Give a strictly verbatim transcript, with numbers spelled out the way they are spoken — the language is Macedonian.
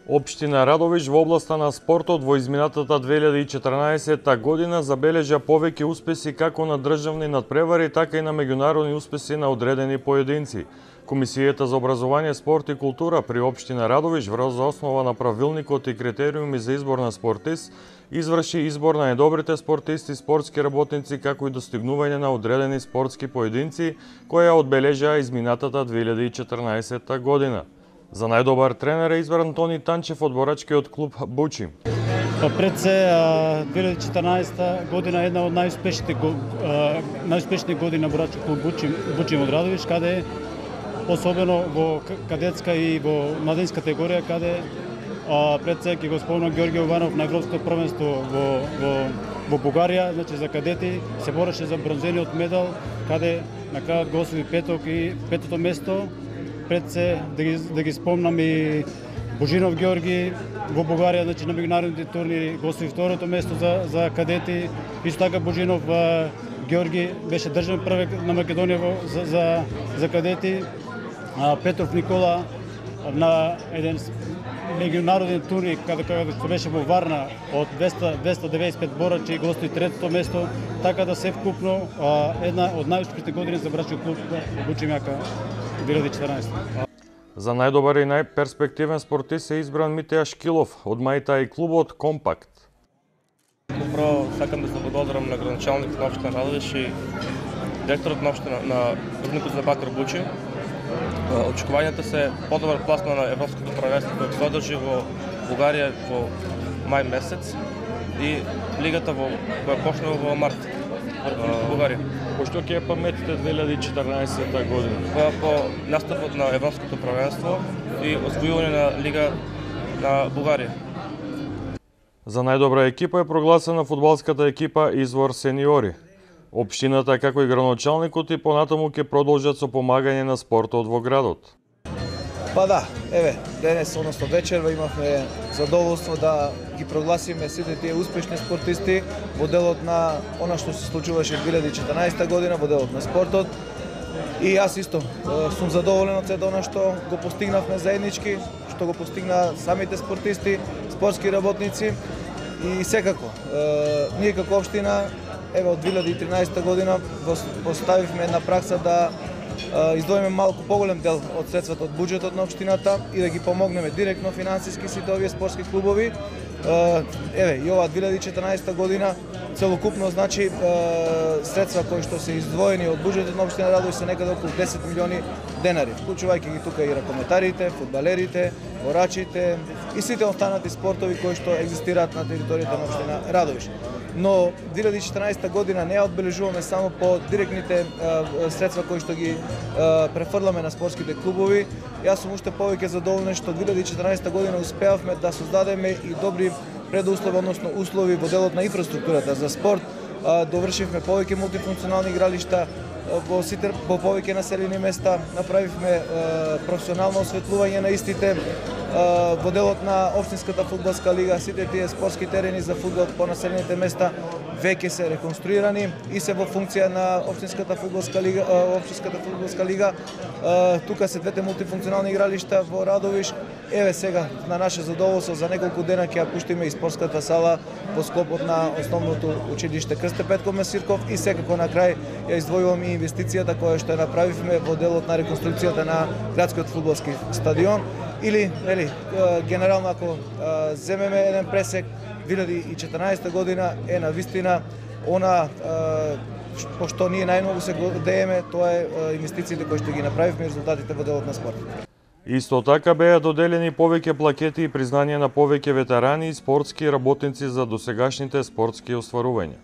Општина Радовиш во областа на спортот во изминатата две илјади и четрнаесетта година забележа повеќе успеси како на државни надпревари, така и на меѓународни успеси на одредени поединци. Комисијата за образование, спорт и култура при Општина Радовиш врз основа на правилникот и критериуми за избор на спортист изврши избор на најдобрите спортисти, спортски работници, како и достигнување на одредени спортски поединци, која одбележаа изминатата две илјади и четрнаесетта година. За најдобар тренер е избран Тони Танчев од борачкиот клуб Бучим. Пред се две илјади и четрнаесетта година е една од најуспешните најуспешни години на борачки клуб Бучим, Бучим од Радовиш, каде особено во кадетска и во младинска категорија, каде а, пред се ќе го спомнам Ѓорѓе Јованов на европското првенство во во во Бугарија, значи за кадети се бореше за бронзениот медал, каде на крајот го освои петок и петото место. Пред се да ги, да ги спомнам и Божинов Ѓорги во Бугарија, значи на меѓународните турнири го освои второто место за за кадети. Исто така Божинов Ѓорги беше државен првак на Македонија во, за, за за кадети. А, Петров Никола на еден меѓународен турнир каде каде што беше во Варна од двеста деветдесет и пет борачи го освои третото место, така да се вкупно а, една од најуспешните години за борачки клуб Бучим јака две илјади и четрнаесетта. За најдобар и најперспективен спортист е избран Митеја Шкилов од Мајта и клубот Компакт. Прво сакам да се благодарам на градоначалникот на Општина Радовиш и директорот на Општина на Рудникот за бакар Бучим. Очекувањата се подобар пласман на европското првенство кој се одржи во Бугарија во мај месец и лигата во која почнува во март во Бугарија. По што ќе паметите две илјади и четрнаесетта година? По, по наставот на европското првенство и освојување на лига на Бугарија. За најдобра екипа е прогласена фудбалската екипа Извор сениори. Општината, како и градоначалникот, и понатаму ќе продолжат со помагање на спортот во градот. Па да, еве, денес, односно вечерва, имавме задоволство да ги прогласиме сите тие успешни спортисти во делот на она што се случуваше две илјади и четрнаесетта година, во делот на спортот. И јас исто сум задоволен од сето она што го постигнавме заеднички, што го постигна самите спортисти, спортски работници и секако, ние како општина, еве од две илјади и тринаесетта година поставивме на пракса да издвоиме малку поголем дел од средствата од буџетот на општината и да ги помогнеме директно финансиски сите овие спортски клубови. Еве, и ова две илјади и четрнаесетта година целокупно значи средства кои што се издвоени од буџетот на општина Радовиш се некаде околу десет милиони денари, вклучувајќи ги тука и ракометарите, фудбалерите, борачите и сите останати спортови кои што екзистираат на територијата на општина Радовиш. Но две илјади и четрнаесетта година не ја одбележуваме само по директните е, средства кои што ги е, префрламе на спортските клубови. Јас сум уште повеќе задоволен што две илјади и четрнаесетта година успеавме да создадеме и добри предуслови, односно услови во делот на инфраструктурата за спорт. Е, довршивме повеќе мултифункционални игралишта во сите во повеќе населени места, направивме е, професионално осветлување на истите. Во делот на општинската фудбалска лига, сите тие спортски терени за фудбал по населените места веќе се реконструирани и се во функција на општинската фудбалска лига, општинската фудбалска лига. Тука се двете мултифункционални игралишта во Радовиш. Еве сега на наше задоволство за неколку дена ќе ја пуштиме и спортската сала во склопот на основното училиште Крсте Петко Месирков и секако на крај ја издвојувам и инвестицијата која што ја направивме во делот на реконструкцијата на градскиот фудбалски стадион. Или, нели, генерално ако земеме еден пресек, две илјади и четрнаесетта година е на вистина она по што ние најмногу се гордееме, тоа е инвестициите кои што ги направивме и резултатите во делот на спортот. Исто така беа доделени повеќе плакети и признание на повеќе ветерани и спортски работници за досегашните спортски остварувања.